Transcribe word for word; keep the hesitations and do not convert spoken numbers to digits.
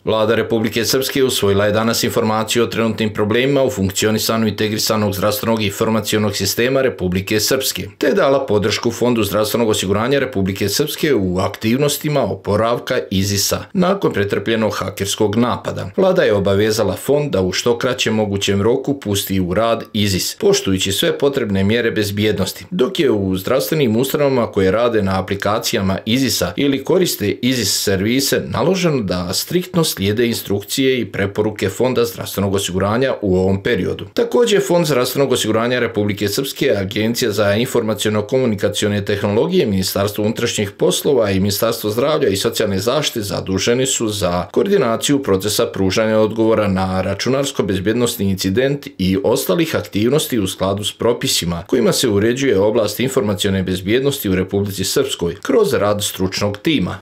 Vlada Republike Srpske usvojila je danas informaciju o trenutnim problemima u funkcionisanju integrisanog zdravstvenog i informacionog sistema Republike Srpske, te dala podršku Fondu zdravstvenog osiguranja Republike Srpske u aktivnostima oporavka IZIS-a nakon pretrpljenog hakerskog napada. Vlada je obavezala fond da u što kraćem mogućem roku pusti u rad IZIS, poštujući sve potrebne mjere bezbjednosti, dok je u zdravstvenim ustanovama koje rade na aplikacijama IZIS-a ili koriste IZIS servise naloženo da striktno slijede instrukcije i preporuke Fonda zdravstvenog osiguranja u ovom periodu. Također, Fond zdravstvenog osiguranja Republike Srpske, Agencija za informaciono-komunikacione tehnologije, Ministarstvo unutrašnjih poslova i Ministarstvo zdravlja i socijalne zaštite zaduženi su za koordinaciju procesa pružanja odgovora na računarsko-bezbjednosni incident i ostalih aktivnosti u skladu s propisima kojima se uređuje oblast informacione bezbjednosti u Republici Srpskoj kroz rad stručnog tima.